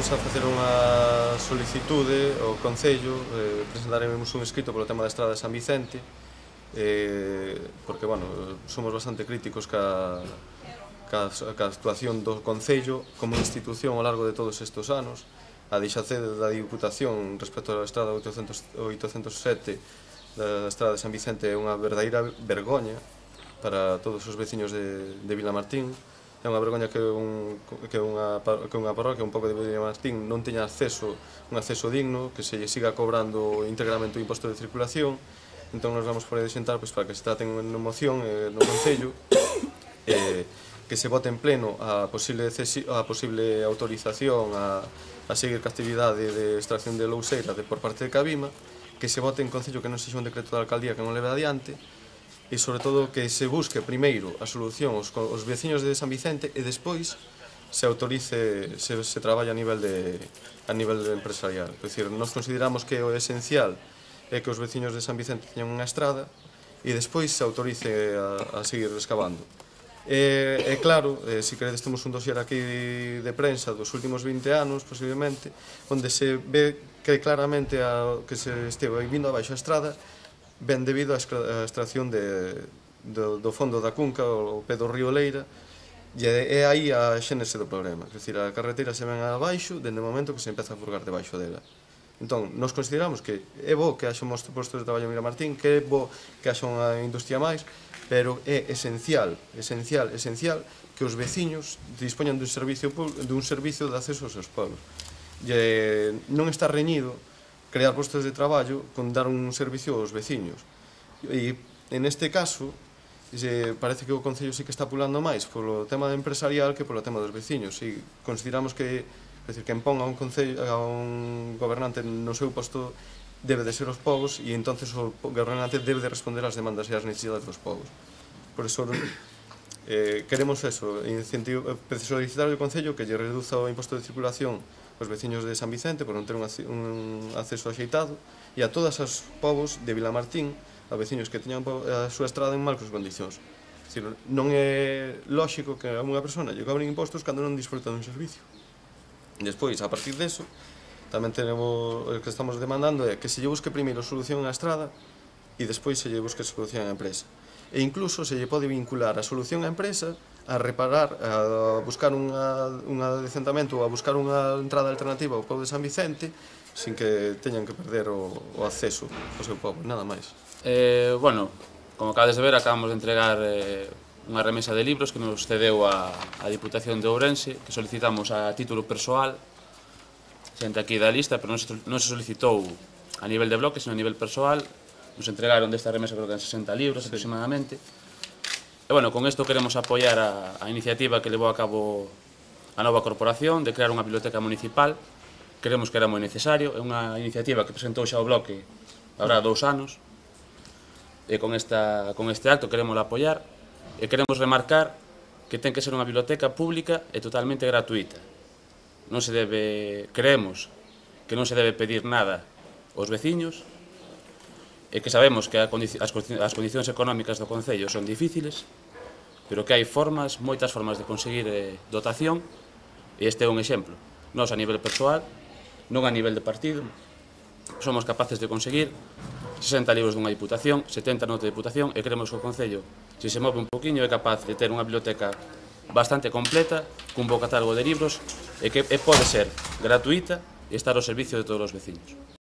Imos a facer unha solicitude ao Concello, presentaremos un escrito polo tema da estrada de San Vicente, porque, bueno, somos bastante críticos ca actuación do Concello como institución ao largo de todos estes anos. A deixadez da Diputación respecto á estrada 807 da estrada de San Vicente é unha verdadeira vergoña para todos os veciños de Vilamartín. É unha vergoña que unha parroquia un pouco de Vilamartín non teña un acceso digno, que se lle siga cobrando íntegramente o imposto de circulación. Entón nos vamos por aí xentar para que se traten unha moción no Concello que se vote en pleno a posible autorización a seguir ca actividade de extracción de louseira por parte de Cabima, que se vote en Concello que non sexa un decreto da alcaldía que non leve adiante, e sobre todo que se busque primeiro a solución aos veciños de San Vicente e despois se autorice, se traballa a nivel empresarial. É dicir, nos consideramos que o esencial é que os veciños de San Vicente teñan unha estrada e despois se autorice a seguir excavando. É claro, se queredes temos un dossier aquí de prensa dos últimos 20 anos, posiblemente, onde se ve que claramente que se esteve vindo abaixo a estrada ben debido á extracción do fondo da cunca, o pé do río Leira, e é aí a xénese do problema. É dicir, a carretera se ven abaixo dende o momento que se empeza a furgar debaixo dela. Entón, nos consideramos que é bo que haxa uns postos de traballo en Vilamartín, que é bo que haxa unha industria máis, pero é esencial que os veciños dispoñan dun servicio de acceso aos seus pueblos. Non está reñido crear postos de traballo con dar un servicio aos veciños. E, neste caso, parece que o Concello sí que está pulando máis polo tema empresarial que polo tema dos veciños. E consideramos que quen ponga a un gobernante no seu posto debe de ser os povos e entonces o gobernante debe de responder ás demandas e ás necesidades dos povos. Por iso queremos solicitar ao Concello que lle reduza o imposto de circulación aos veciños de San Vicente por non ter un acceso axeitado e a todos os povos de Vilamartín, a veciños que teñan a súa estrada en malas condicións. Non é lóxico que a unha persona lle cobren impostos cando non disfruta dun servicio. Despois, a partir deso, tamén o que estamos demandando é que se lle busque primeiro solución á estrada e despois se lle busque solución á empresa. E incluso se lle pode vincular a solución á empresa a reparar, a buscar un adecentamento ou a buscar unha entrada alternativa ao pobo de San Vicente sin que teñan que perder o acceso ao seu pobo, nada máis. Bueno, como acabades de ver, acabamos de entregar unha remesa de libros que nos cedeu a Diputación de Ourense, que solicitamos a título persoal, xente aquí da lista, pero non se solicitou a nivel de bloque, sino a nivel persoal. Nos entregaron desta remesa, creo que en 60 libros aproximadamente. E, bueno, con isto queremos apoiar a iniciativa que levou a cabo a nova corporación de crear unha biblioteca municipal. Creemos que era moi necesario. É unha iniciativa que presentou xa o bloque habrá 2 anos. E con este acto queremos apoiar e queremos remarcar que ten que ser unha biblioteca pública e totalmente gratuita. Creemos que non se debe pedir nada aos veciños e que sabemos que as condicións económicas do Concello son difíciles, pero que hai moitas formas de conseguir dotación, e este é un exemplo. Nós, a nivel persoal, non a nivel de partido, somos capaces de conseguir 60 libros dunha diputación, 70 noutra diputación, e creemos que o Concello, se se move un poquinho, é capaz de ter unha biblioteca bastante completa, cun bo catálogo de libros, e que pode ser gratuita e estar ao servicio de todos os veciños.